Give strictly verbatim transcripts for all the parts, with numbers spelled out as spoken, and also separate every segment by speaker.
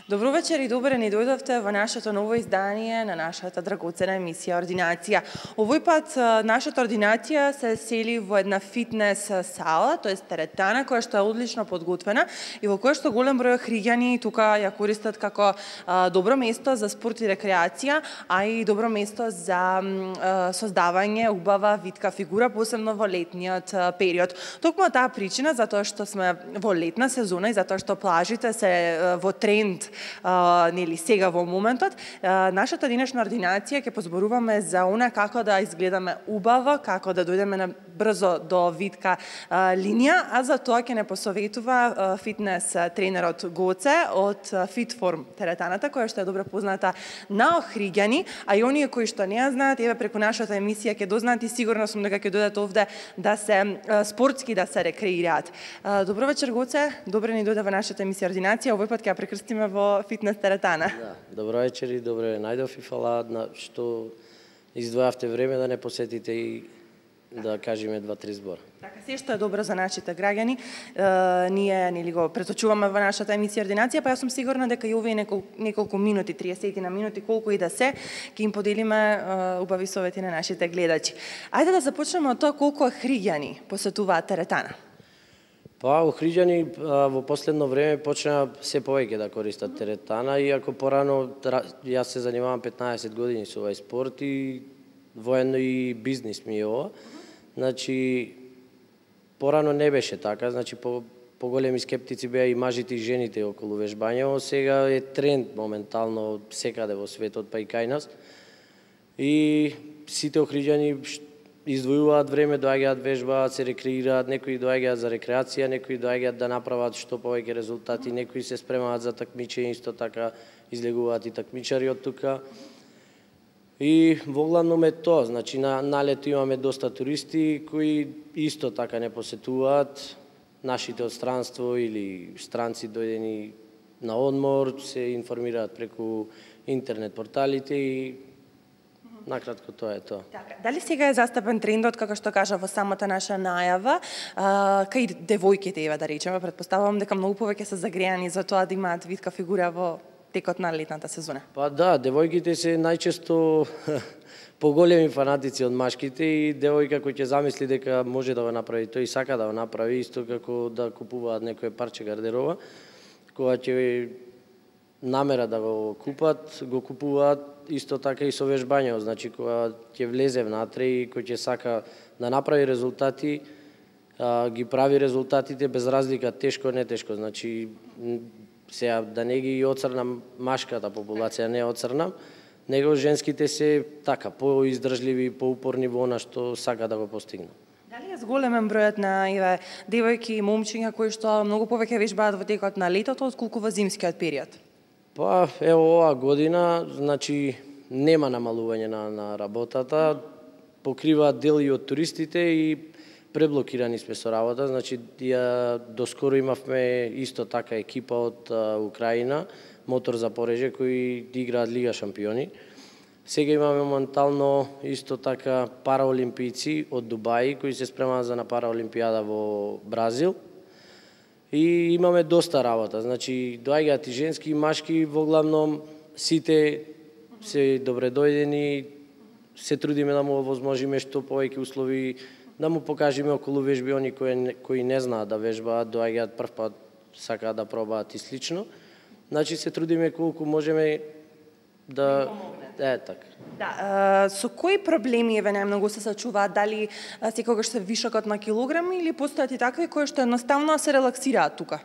Speaker 1: Добро вечер и добре ни дојдовте во нашето ново издание на нашата драгоцена емисија Ординација. Овој пат нашата ординација се сели во една фитнес сала, тоа е теретана која што е одлично подготвена и во која што голем број хриѓани тука ја користат како а, добро место за спорт и рекреација, а и добро место за а, создавање убава витка фигура, посебно во летниот а, период. Токму таа причина, затоа што сме во летна сезона и затоа што плажите се а, во тренд Uh, нели сега во моментот, uh, нашата денешна ординација ќе позборуваме за она како да изгледаме убаво, како да дојдеме на брзо до витка uh, линија, а за тоа ќе не посоветува uh, фитнес тренерот Гоце од uh, Fitform теретаната, која што е добро позната на охриѓани, а и оние кои што не ја знаат, еве преку нашата емисија ќе дознаат и сигурно сум дека ќе дојдат овде да се uh, спортски да се рекреираат. Uh, добро вечер Гоце, добре ни дојде во нашата емисија Ординација, овој пат ќе ја прекрстиме во фитнес теретана.
Speaker 2: Да, добро вечер и добре најдов и фала на што издвојавте време да не посетите и да кажеме два-три збора.
Speaker 1: Така, се што е добро за нашите граѓани, е, ние нели го преточуваме во нашата емисија Ординација, па јас сум сигурна дека и овие неколку, неколку минути, триесет на минути, колку и да се, ќе им поделиме е, убави совети на нашите гледачи. Ајде да започнеме од тоа колку хриѓани посетуваат теретана.
Speaker 2: Па, охриѓани во последно време почна се повеќе да користат теретана, иако порано јас се занимавам петнаесет години со овој спорт и воено и бизнис ми е ова. Значи, порано не беше така, значи по поголеми скептици беа и мажите и жените околу вежбањето, сега е тренд моментално секаде во светот, па и кај нас. И сите охриѓани издвојуваат време, доаѓаат вежбаат, се рекреираат, некои доаѓаат за рекреација, некои доаѓаат да направат што повеќе резултати, некои се спремаат за такмичење, исто така излегуваат и такмичари од тука. И воглавном е тоа, значи на, на лето имаме доста туристи кои исто така не посетуваат, нашите од странство или странци дојдени на одмор, се информираат преку интернет порталите и накратко тоа е тоа.
Speaker 1: Така, дали сега е застапен трендот, како што кажа во самата наша најава, а, кај девојките, ева да речеме, претпоставувам дека многу повеќе се загреани за тоа да имаат витка фигура во текот на летната сезона?
Speaker 2: Па да, девојките се најчесто поголеми фанатици од машките и девојка кој ќе замисли дека може да го направи, тој сака да го направи, исто како да купуваат некое парче гардероба, кога ќе намера да го купат, го купуваат исто така и со вежбањето, значи кога ќе влезе внатре и кој ќе сака да направи резултати, а, ги прави резултатите без разлика тешко не тешко, значи сега да не ги оцрнам машката популација, не оцрнам, него женските се така поиздржливи, поупорни во она што сака да го постигнат.
Speaker 1: Дали е зголемен бројот на еве девојки и момчиња кои што многу повеќе вежбаат во текот на летото отколку во зимскиот период?
Speaker 2: Па, ево оваа година, значи, нема намалување на, на работата, покриваат дел и од туристите и преблокирани сме со работа, значи, ја, доскоро имавме исто така екипа од а, Украина, Мотор Запореже, кои играат Лига шампиони. Сега имаме моментално исто така параолимпијци од Дубај, кои се спремаат за на параолимпијада во Бразил. И имаме доста работа, значи доаѓаат и женски и машки, воглавном сите се добре дојдени, се трудиме да му овозможиме што повеќе услови, да му покажеме околу вежби они кои, кои не знаат да вежбаат, доаѓаат прв пат, сакаат да пробаат и слично. Значи се трудиме колку можеме да... Е, така.
Speaker 1: Да, со кои проблеми еве најмногу се сочуваат, дали секогаш се вишокот на килограми или постојат и такви кои што едноставно се релаксираат тука?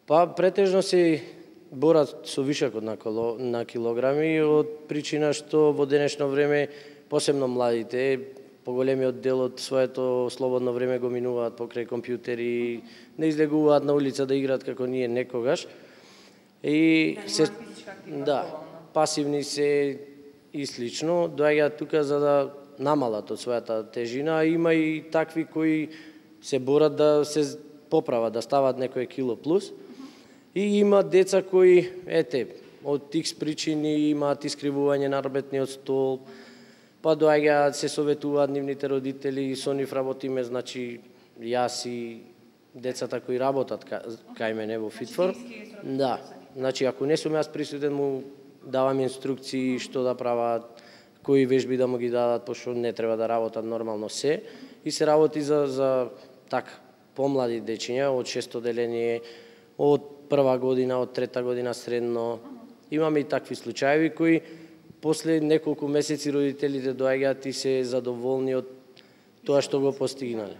Speaker 2: Па претежно се борат со вишокот на, коло, на килограми од причина што во денешно време, посебно младите, поголемиот дел од своето слободно време го минуваат покрај компјутери, не излегуваат на улица да играат како ние некогаш. И се да. пасивни се и слично, доаѓаат тука за да намалат од својата тежина, а има и такви кои се борат да се поправат, да стават некое кило плюс. И има деца кои, ете, од икс причини имаат искривување на работниот стол, па доаѓаат, се советуваат нивните родители, со нив работиме, значи јас и децата кои работат кај мене во Фитформ. Да, значи ако не сум јас присутен, му давам инструкции што да прават, кои вежби да му ги дадат, пошто не треба да работат нормално се. И се работи за, за така, помлади дечиња, од шесто деление, од прва година, од трета година средно. Имаме и такви случаи кои после неколку месеци родителите доаѓаат и се задоволни од тоа што го постигнале.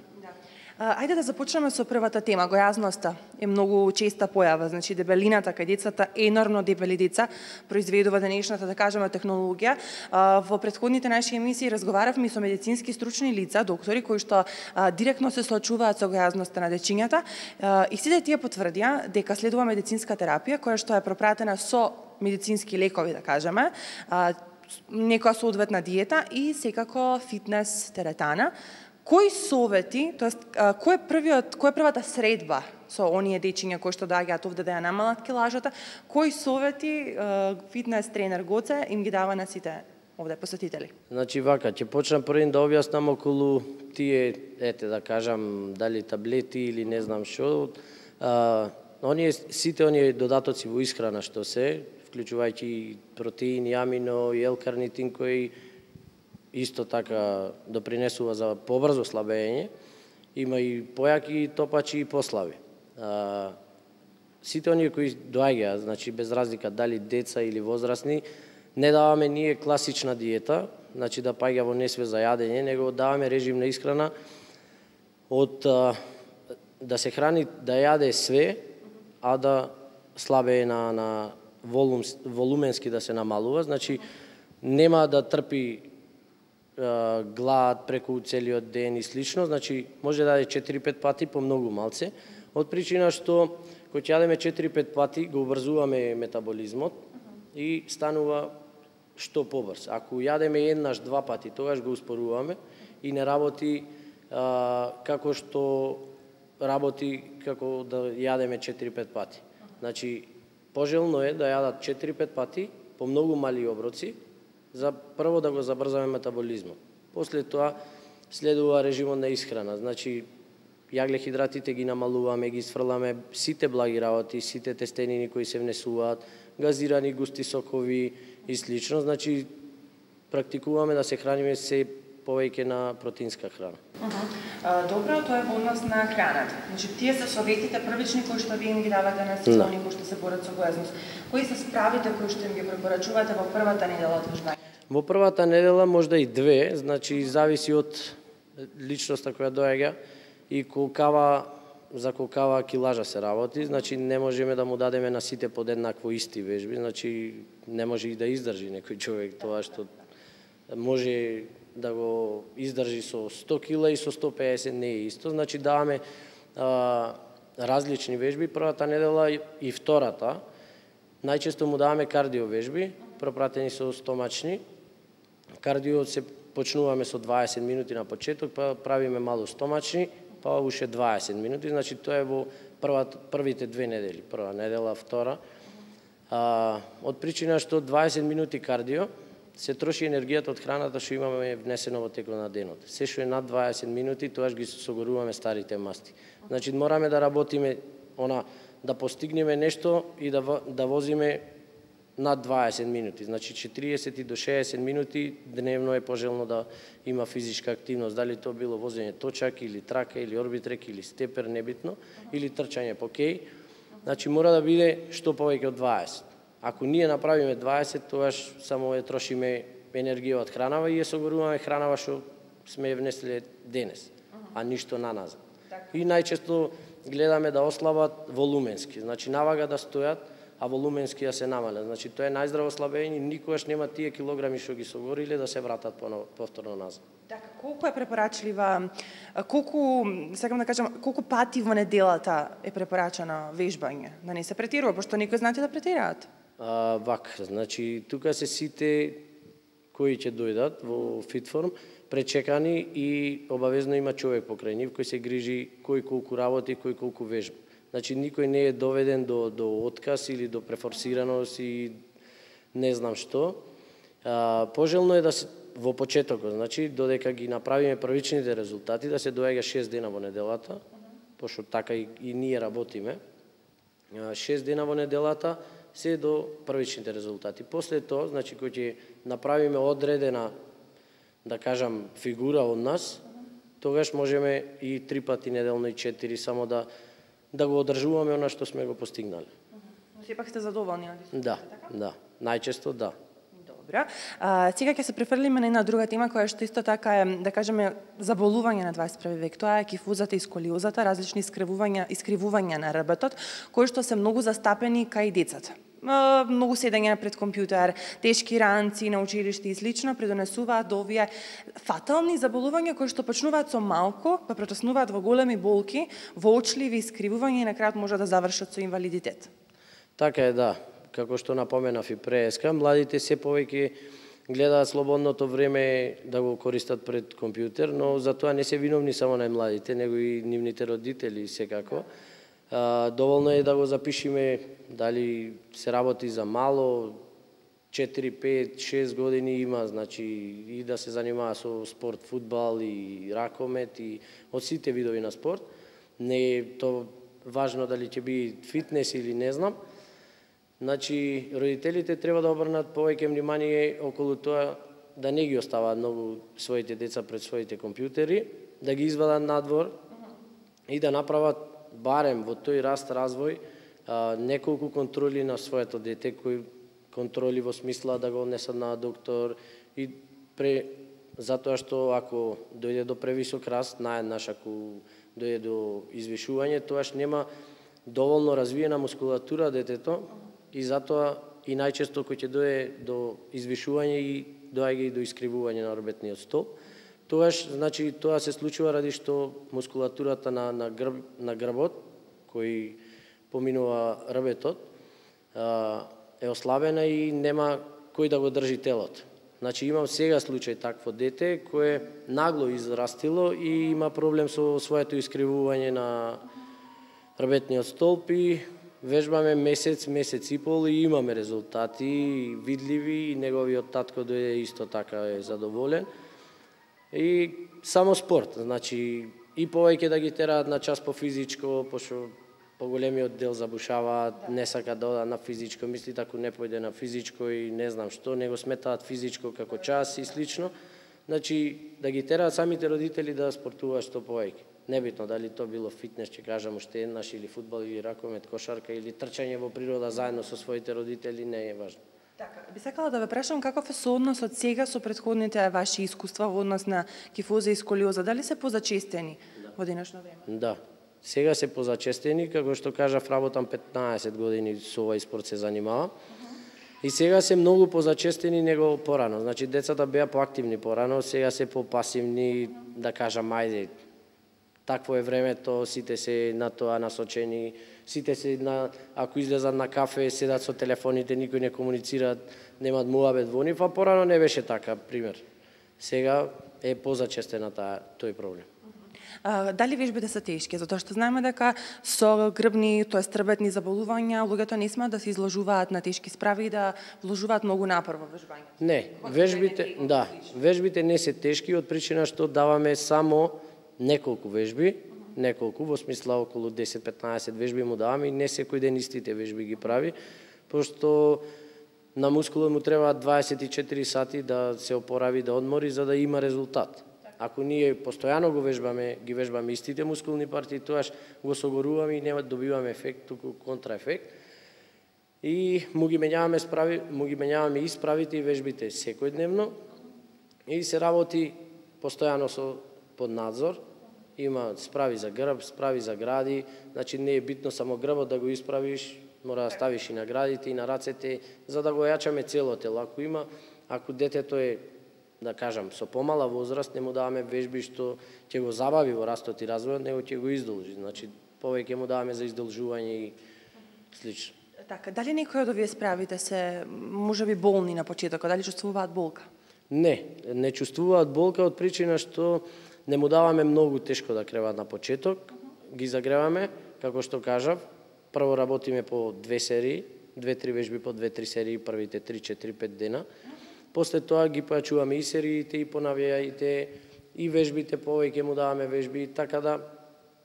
Speaker 1: Ајде да започнеме со првата тема, гојазноста е многу честа појава, значи дебелината кај децата, енормно дебели деца произведува денешната, да кажеме, технологија. Во претходните наши емисии разговаравме со медицински стручни лица, доктори кои што директно се соочуваат со гојазноста на дечињата и сите тие потврдија дека следува медицинска терапија која што е пропратена со медицински лекови, да кажеме, некоја соодветна диета и секако фитнес теретана. Кои совети, тоест кој е првиот, кој е првата средба со оние дечиња кои што доаѓаат овде да ја намалат килажата, кои совети фитнес тренер Гоце им ги дава на сите овде посетители?
Speaker 2: Значи вака, ќе почнам првин да објаснам околу тие, ете да кажам, дали таблети или не знам што, оние сите оние додатоци во исхрана што се, вклучувајќи протеини, амино и L-карнитин кои исто така допринесува за побрзо слабење, има и појаки топачи и послаби. А, сите оние кои доаѓаат, значи без разлика дали деца или возрастни, не даваме ние класична диета, значи да паѓа во несве за јадење, него даваме режим на исхрана од а, да се храни, да јаде све, а да слабее на, на волум, волуменски да се намалува, значи нема да трпи глад преку целиот ден и слично, значи може да јаде четири-пет пати по многу малце, од причина што кога ќе јадеме четири-пет пати го обрзуваме метаболизмот и станува што побрз. Ако јадеме еднаш, два пати, тогаш го успоруваме и не работи а, како што работи како да јадеме четири-пет пати. Значи, пожелно е да јадат четири-пет пати по многу мали оброци, за прво да го забрзаме метаболизмот. После тоа следува режимот на исхрана, значи јаглехидратите ги намалуваме, ги сфрламе сите благи работи, сите тестенини кои се внесуваат, газирани густи сокови и слично, значи практикуваме да се храниме се повеќе на протеинска храна.
Speaker 1: Uh -huh. Добро, тоа е во однос на храната. Значи тие се советите првични кои што вие им ги давате на сите оние кои што се борат со гојазност. Кои се справите кои што им ги препорачувате во првата недела од вежбањето?
Speaker 2: Во првата недела можда и две, значи зависи од личноста која доаѓа и колкава за колкава килажа се работи, значи не можеме да му дадеме на сите подеднакво исти вежби, значи не може и да издржи некој човек тоа што може да го издржи со сто кила и со сто педесет не е исто, значи даваме а, различни вежби првата недела и втората. Најчесто му даваме кардио вежби, пропратени со стомачни. Кардио се почнуваме со дваесет минути на почеток, па правиме мало стомачни, па уште дваесет минути, значи тоа е во првата, првите две недели, прва недела, втора. А, од причина што дваесет минути кардио се троши енергијата од храната што имаме внесено во текот на денот. Се што е над дваесет минути, тоаш ги согоруваме старите масти. Значи мораме да работиме она да постигнеме нешто и да да возиме над дваесет минути. Значи четириесет до шеесет минути дневно е пожелно да има физичка активност, дали тоа било возење точак или трака или орбитрек или степер, небитно, или трчање по кеј. Значи мора да биде што повеќе од дваесет. Ако ние направиме дваесет, тоаш само ја трошиме енергија од хранава и ја согоруваме хранава што сме ја внесле денес, а ништо на назад. И најчесто гледаме да ослабат волуменски, значи навага да стојат, а волуменски ја се намалят. Значи тоа е најздраво слабење, никогаш нема тие килограми што ги согориле да се вратат повторно назад.
Speaker 1: Така, колку е препорачлива, колку, сакам да кажам, колку пати во неделата е препорачано вежбање? Да не се претирува, пошто некои знаете да претираат.
Speaker 2: А, вак, значи, тука се сите кои ќе дојдат во Фитформ, пречекани и обавезно има човек покрај нив кој се грижи кој колку работи, кој колку вежба. Значи, никој не е доведен до, до отказ или до префорсираност и не знам што. А, пожелно е да се во почетокот, значи, додека ги направиме првичните резултати, да се доаѓа шест дена во неделата, пошто така и, и ние работиме. шест дена во неделата се до првичните резултати. После тоа, значи, кој ќе направиме одредена, да кажам, фигура од нас, тогаш можеме и три пати неделно и четири, само да да го одржуваме она што сме го постигнали.
Speaker 1: Сепак сте задоволни од
Speaker 2: Да, да, најчесто да.
Speaker 1: Добро. А, сега ќе се префрлиме на една друга тема која што исто така е, да кажеме, заболување на дваесет и први век. Тоа е кифузата и сколиозата, различни искривувања, искривувања на рбтот, кои што се многу застапени кај децата. Многу седење пред компјутер, тешки ранци на училиште и слично придонесуваат до овие фатални заболувања кои што почнуваат со малку, па претоснуваат во големи болки, воочливи искривувања и на крајот може да завршат со инвалидитет.
Speaker 2: Така е, да. Како што напоменав и преска, младите се повеќе гледаат слободното време да го користат пред компјутер, но за тоа не се виновни само најмладите, него и нивните родители секако. А, доволно е да го запишиме дали се работи за мало, четири, пет, шест години има, значи и да се занимава со спорт, фудбал и ракомет и од сите видови на спорт. Не е то важно дали ќе би фитнес или не знам. Значи, родителите треба да обрнат повеќе внимание околу тоа да не ги оставаат многу своите деца пред своите компјутери, да ги извадат надвор и да направат барем во тој раст развој неколку контроли на своето дете, кои контроли во смисла да го однесат на доктор и пре затоа што ако дојде до превисок раст, наеднаш ако дојде до извишување, тоаш нема доволно развиена мускулатура детето и затоа и најчесто кој ќе дојде до извишување и доаѓа и до искривување на рбетниот столб. Тоаш, значи, тоа се случува ради што мускулатурата на, на, грб, на грбот, кој поминува рбетот, е ослабена и нема кој да го држи телото. Значи, имам сега случај такво дете кое нагло израстило и има проблем со своето искривување на рбетниот столб и вежбаме месец, месец и пол и имаме резултати видливи и неговиот татко дојде исто така е задоволен. И само спорт, значи и повеќе да ги тераат на час по физичко, пошто поголемиот дел забушаваат, не сака да одат на физичко, мислит ако не појде на физичко и не знам што, него сметаат физичко како час и слично. Значи да ги тераат самите родители да спортуваат што повеќе. Небитно дали то било фитнес, ќе кажам уште еднаш, или фудбал, или ракомет, кошарка, или трчање во природа заедно со своите родители, не е важно.
Speaker 1: Така, би сакала да ве прашам каков е соодносот сега со претходните ваши искуства во однос на кифоза и сколиоза, дали се позачестени да. Во денешно време?
Speaker 2: Да, сега се позачестени, како што кажав, работам петнаесет години со овој спорт се занимавам. Uh -huh. И сега се многу позачестени него порано. Значи децата беа поактивни порано, сега се попасивни, uh -huh. да кажам, ајде, такво е времето, сите се на тоа насочени, сите се на, ако излезат на кафе, седат со телефоните, никој не комуницираат, немаат муабет во нив, а порано не беше така, пример. Сега е позачестена таа тој проблем.
Speaker 1: А, дали вежбите се тешки? Затоа што знаеме дека со грбни, тоест рбетни заболувања, луѓето не смеат да се изложуваат на тешки справи и да вложуваат многу напор во вежбањето.
Speaker 2: Не, вежбите, да, вежбите не се тешки од причина што даваме само неколку вежби, неколку, во смисла околу десет-петнаесет вежби му даваме и не секој ден истите вежби ги прави, пошто на мускулот му треба дваесет и четири сати да се опорави, да одмори, за да има резултат. Ако ние постојано го вежбаме, ги вежбаме истите мускулни партии, тоаш го согоруваме и нема добиваме ефект, туку контраефект. И му ги менјаваме справи, му ги менјаваме и справите и вежбите секојдневно и се работи постојано со под надзор. Има справи за грб, справи за гради, значи не е битно само грбот да го исправиш, мора да ставиш и на градите и на рацете, за да го јачаме цело тело. Ако има, ако детето е, да кажам, со помала возраст, не му даваме вежби што ќе го забави во растот и развојот, него ќе го издолжи. Значи, повеќе му даваме за издолжување и слично.
Speaker 1: Така, дали некој од овие справите се можеби болни на почетокот, дали чувствуваат болка?
Speaker 2: Не, не чувствуваат болка од причина што не му даваме многу тешко да креват на почеток, ги загреваме, како што кажав, прво работиме по две серии, две-три вежби по две-три серии, првите три-четири-пет дена. После тоа ги појачуваме и сериите, и понавијаите, и вежбите, повеќе му даваме вежби, така да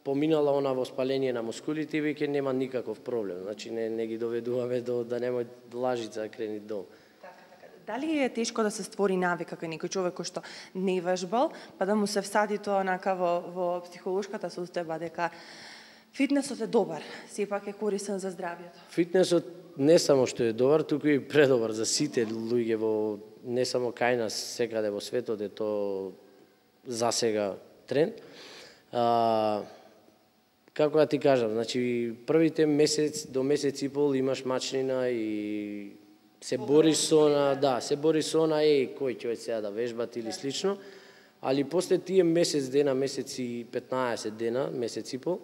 Speaker 2: поминала она воспаление на мускулите и веќе нема никаков проблем. Значи не, не ги доведуваме до да немој лажица да крени долу.
Speaker 1: Дали е тешко да се створи навика кај некој човек кој што не вежбал, па да му се всади тоа онака во, во психолошката состојба дека фитнесот е добар, сепак е корисен за здравјето?
Speaker 2: Фитнесот не само што е добар, туку и предобар за сите луѓе во не само кај нас, секаде во светот е тоа за сега тренд. А, како да ти кажам, значи првите месец до месец и пол имаш мачнина и се бориш со она, да, се бориш со она, е, кој ќе сега да вежбат или слично, али после тие месец дена, месец и петнаесет дена, месец и пол,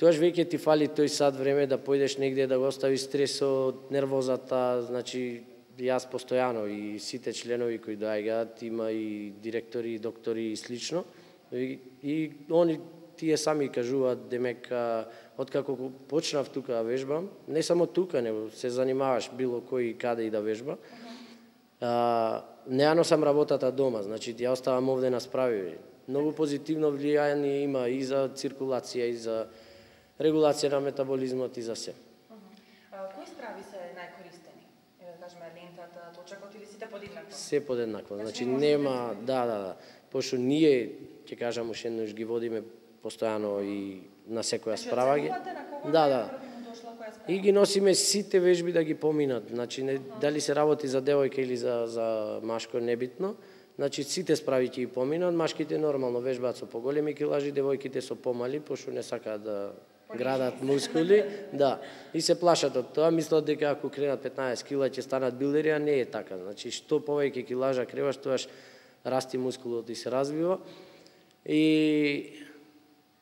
Speaker 2: тоаш веќе ти фали тој сат време да појдеш негде да го оставиш стресот, нервозата, значи јас постојано и сите членови кои доаѓаат, има и директори, и доктори и слично, и, и они тие сами кажуваат демека откако почнав тука да вежбам, не само тука, него се занимаваш било кој каде и да вежба. А, не ја носам работата дома, значи ја оставам овде на справи. Многу позитивно влијание има и за циркулација, и за регулација на метаболизмот и за се.
Speaker 1: Кои справи се најкористени? Да кажеме лентата, точакот или сите подеднакво?
Speaker 2: Се подеднакво. Значи нема, да, да, да. Пошто ние, ќе кажам уште еднаш, ги водиме постојано и на секоја справа ги. Да, да. И ги носиме сите вежби да ги поминат. Значи не, дали се работи за девојка или за за машко небитно. Значи сите справи ќе ги поминат, машките нормално вежбаат со поголеми килажи, девојките со помали, пошто не сакаат да градат мускули, да. И се плашат од тоа, мислат дека ако кренат петнаесет кила ќе станат билдери, а не е така. Значи што повеќе килажа креваш, тоаш расти мускулот и се развива. И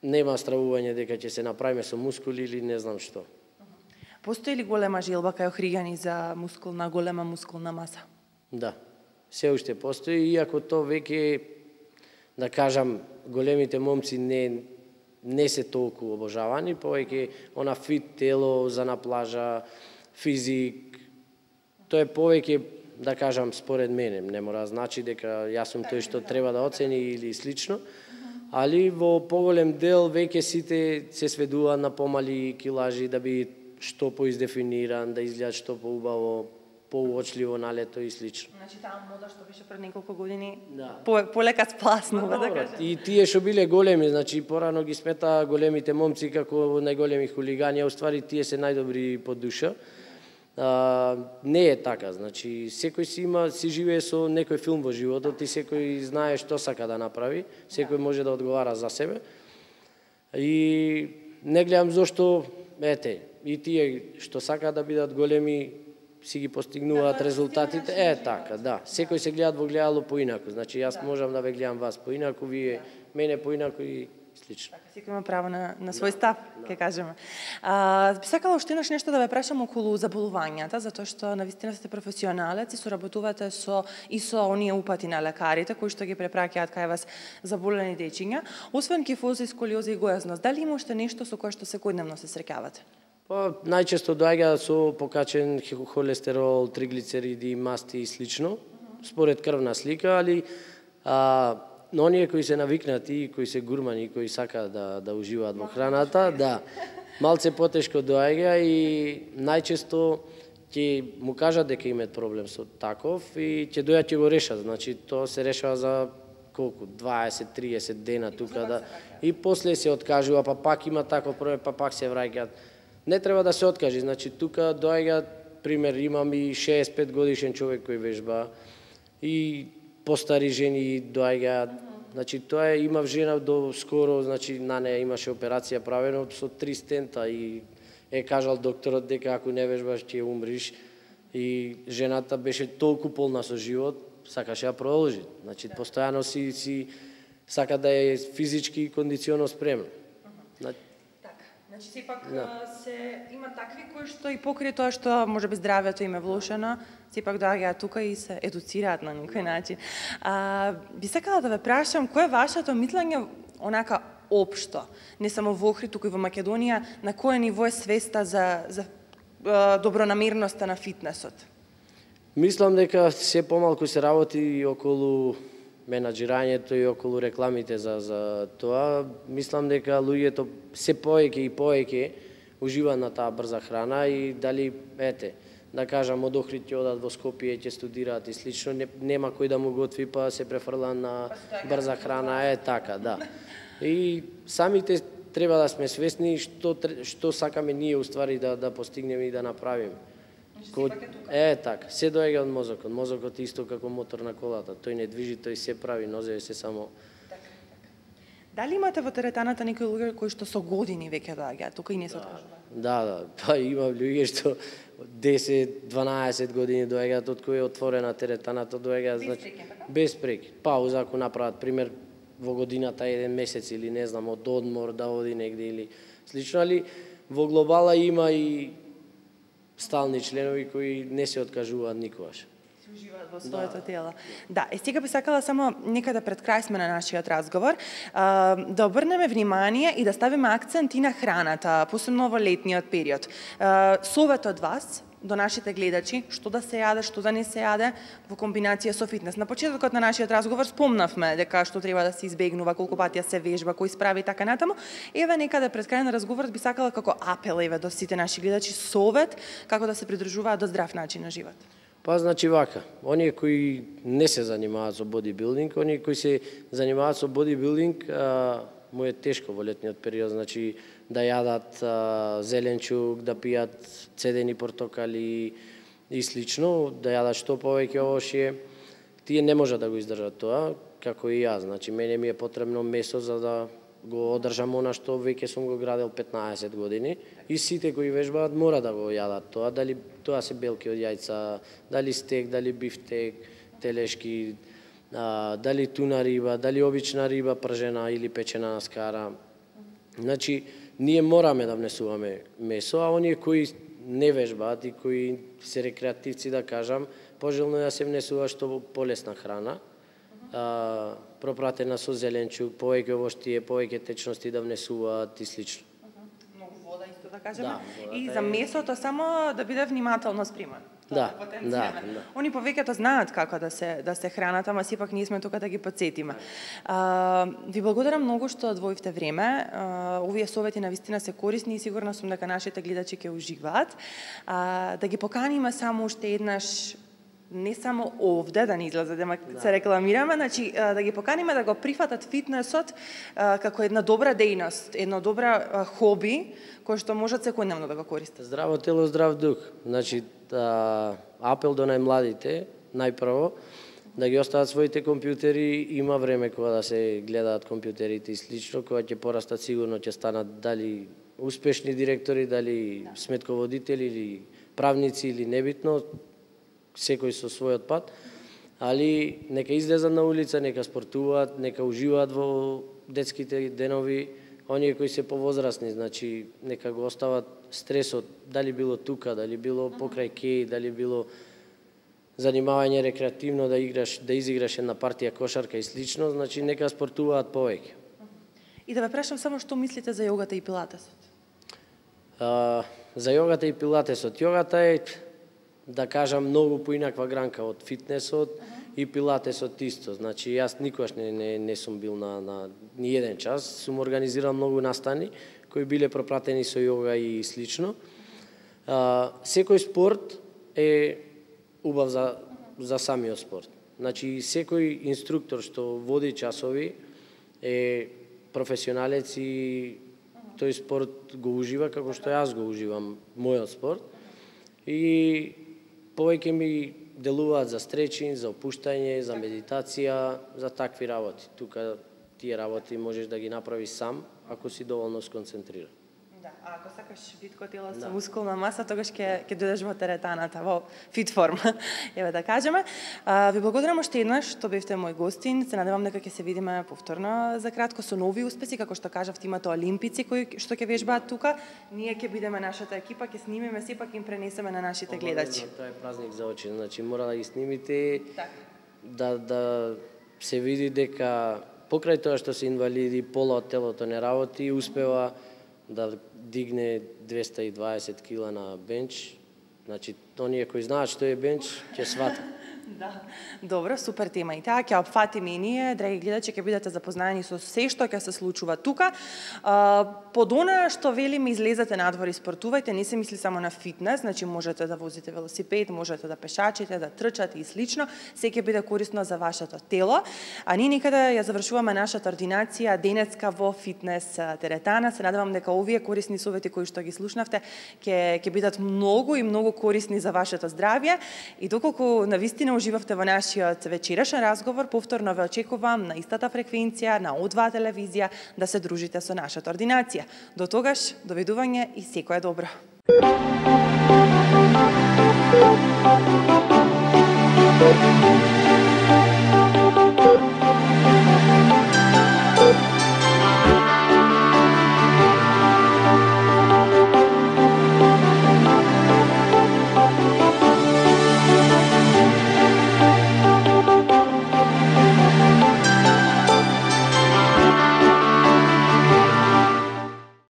Speaker 2: нема стравување дека ќе се направиме со мускули или не знам што.
Speaker 1: Постои ли голема желба кај охриѓани за мускулна, голема мускулна маса?
Speaker 2: Да, се уште постои, иако то веќе, да кажам, големите момци не не се толку обожавани, повеќе она фит тело за на плажа, физик, тоа е повеќе, да кажам, според мене, не мора значи дека јас сум тој што треба да оцени или слично, али во поголем дел веќе сите се сведуваат на помали килажи да би што поиздефиниран, да изгледат што поубаво, поуочливо на лето и слично.
Speaker 1: Значи таа мода што беше пред неколку години,
Speaker 2: да.
Speaker 1: по, полека спласнува, да кажем.
Speaker 2: И тие што биле големи, значи порано ги смета големите момци како најголеми хулигани, а уствари тие се најдобри по душа. А, не е така, значи секој си има, си живее со некој филм во животот и секој знае што сака да направи, секој може да одговара за себе. И не гледам зошто, ете, и тие што сака да бидат големи си ги постигнуваат резултатите, е така, да. Секој се гледат во гледало поинаку, значи јас можам да ве гледам вас поинаку, вие мене поинаку и слично.
Speaker 1: Така, секој има право на, на свој став, ќе кажеме. А, би сакала уште еднаш нешто да ве прашам околу заболувањата, затоа што навистина сте професионалец и соработувате со и со оние упати на лекарите кои што ги препраќаат кај вас заболени дечиња. Освен кифоза, сколиоза и гојазност, дали има уште нешто со кое што секојдневно се среќавате?
Speaker 2: Па, најчесто доаѓа со покачен холестерол, триглицериди, масти и слично, според крвна слика, али а, но оние кои се навикнати и кои се гурмани, кои сакаат да, да уживаат во храната, да, малце потешко доаѓа и најчесто ќе му кажат дека имаат проблем со таков и ќе дојат ќе го решат, значи тоа се решава за колку, дваесет до триесет дена тука да и после се откажува, па пак има таков проблем, па пак се враќаат. Не треба да се откажи, значи тука доаѓа, пример, имам и шеесет и пет годишен човек кој вежба и постари жени доаѓаат. Значи тоа е, имав жена до скоро, значи на неја имаше операција правено со три стента и е кажал докторот дека ако не вежбаш ќе умриш и жената беше толку полна со живот, сакаше да продолжи. Значи постојано си си сака да е физички и кондиционо спремна. Значи,
Speaker 1: Значи сепак
Speaker 2: Да.
Speaker 1: се има такви кои што и покрај тоа што можеби здравјето им е влошено, сепак доаѓаат тука и се едуцираат на некој начин. А, би сакала да ве прашам кој е вашето мислење онака општо, не само во Охрид, туку и во Македонија, на кое ниво е свеста за за а, добронамерноста на фитнесот?
Speaker 2: Мислам дека се помалку се работи и околу менаџирањето и околу рекламите за за тоа. Мислам дека луѓето се повеќе и повеќе уживаат на таа брза храна и дали ете, да кажам од Охрид ќе одат во Скопје ќе студираат и слично, не, нема кој да му готви па се префрла на брза храна, е така, да. И самите треба да сме свесни што што сакаме ние уствари да да постигнеме и да направиме. Ко... Е, така, се доаѓа од мозокот. Мозокот е исто како мотор на колата. Тој не движи, тој се прави, нозеве се само...
Speaker 1: Така, така. Дали имате во теретаната некои луѓе кои што со години веќе доаѓаат, тука и не се откажува?
Speaker 2: Да, да, па има луѓе што десет дванаесет години доаѓаат од кој е отворена теретаната, доаѓаат, значи, без прекин. Пауза ако направат, пример, во годината еден месец или не знам, од одмор да оди негде или слично, али во глобала има и стални членови кои не се откажуваат никогаш.
Speaker 1: Се уживаат во своето да. тело. Да, е сега би сакала само некаде пред крај сме на нашиот разговор, а, да обрнеме внимание и да ставиме акцент и на храната, посебно во летниот период. А, совет од вас до нашите гледачи, што да се јаде, што да не се јаде во комбинација со фитнес. На почетокот на нашиот разговор спомнавме дека што треба да се избегнува, колку пати се вежба, кој справи така натаму. Еве некаде пред крај на разговорот би сакала како апел еве до сите наши гледачи совет како да се придржуваат до здрав начин на живот.
Speaker 2: Па значи вака, оние кои не се занимаваат со бодибилдинг, оние кои се занимаваат со бодибилдинг, а, му е тешко во летниот период, значи да јадат а, зеленчук, да пијат цедени портокали и слично, да јадат што повеќе овошје. Тие не можат да го издржат тоа, како и јас. Значи мене ми е потребно месо за да го одржам она што веќе сум го градел петнаесет години и сите кои вежбаат мора да го јадат тоа, дали тоа се белки од јајца, дали стек, дали бифтек, телешки, а, дали туна риба, дали обична риба пржена или печена на скара. Значи ние мораме да внесуваме месо, а оние кои не вежбаат и кои се рекреативци, да кажам, пожелно е да се внесува што полесна храна, а, пропратена со зеленчук, повеќе овоштие, повеќе течности да внесуваат и слично.
Speaker 1: Многу вода исто да кажеме.
Speaker 2: Да,
Speaker 1: и за месото само да биде внимателно спреман.
Speaker 2: Да, да, да.
Speaker 1: Они повеќето знаат како да се да се хранат, ама сепак ние сме тука да ги потсетиме. А, ви благодарам многу што одвоивте време. А, овие совети навистина се корисни и сигурна сум дека нашите гледачи ќе уживаат. А, да ги поканиме само уште еднаш, не само овде да не излезе да се рекламираме, значи да ги поканиме да го прифатат фитнесот како една добра дејност, една добра хоби кој што можат секојдневно да го користат.
Speaker 2: Здраво тело, здрав дух. Значи а, апел до најмладите, најпрво да ги остават своите компјутери, има време кога да се гледаат компјутерите и слично, кога ќе порастат сигурно ќе станат дали успешни директори, дали да. сметководители или правници или небитно, секој со својот пат, али нека излезат на улица, нека спортуваат, нека уживаат во детските денови, оние кои се повозрасни, значи нека го остават стресот, дали било тука, дали било покрај кеј, дали било занимавање рекреативно да играш, да изиграш една партија кошарка и слично, значи нека спортуваат повеќе.
Speaker 1: И да ве прашам само што мислите за јогата и пилатесот?
Speaker 2: А, за јогата и пилатесот, јогата е, да кажам, многу поинаква гранка од фитнесот uh -huh. и пилатесот исто. Значи, јас никогаш не, не, не сум бил на, на ни еден час, сум организирал многу настани кои биле пропратени со јога и слично. А, секој спорт е убав за, за самиот спорт. Значи, секој инструктор што води часови е професионалец и тој спорт го ужива како што јас го уживам мојот спорт. И повеќе ми делуваат за стречинг, за опуштање, за медитација, за такви работи. Тука тие работи можеш да ги направиш сам, ако си доволно сконцентриран.
Speaker 1: Да, а ако сакаш битко тело со мускулна маса, тогаш ќе ќе дојдеш во теретаната, во фит форма, еве да кажеме. А, ви благодарам уште еднаш што бевте мој гостин. Се надевам дека ќе се видиме повторно за кратко со нови успеси, како што кажавте, имате олимпици кои што ќе вежбаат тука. Ние ќе бидеме нашата екипа, ќе снимиме, сепак им пренесеме на нашите гледачи.
Speaker 2: Тоа е празник за очи, значи мора да ги снимите,
Speaker 1: Так.
Speaker 2: да да се види дека покрај тоа што се инвалиди, пола од телото не работи, успева да дигне двеста и дваесет кила на бенч. Значи, оние кои знаат што е бенч, ќе сватат.
Speaker 1: Да, добро, супер тема и таа, ќе опфатиме и ние, драги гледачи, ќе бидете запознаени со се што ќе се случува тука. Под она што велиме излезете надвор и спортувајте, не се мисли само на фитнес, значи можете да возите велосипед, можете да пешачите, да трчате и слично, се ќе биде корисно за вашето тело. А ние никаде ја завршуваме нашата ординација денеска во фитнес теретана. Се надевам дека овие корисни совети кои што ги слушнавте ќе ќе бидат многу и многу корисни за вашето здравје и доколку навистина уживавте во нашиот вечерашен разговор, повторно ве очекувам на истата фреквенција на О два телевизија да се дружите со нашата ординација. До тогаш, довидување и секое добро. Thank you.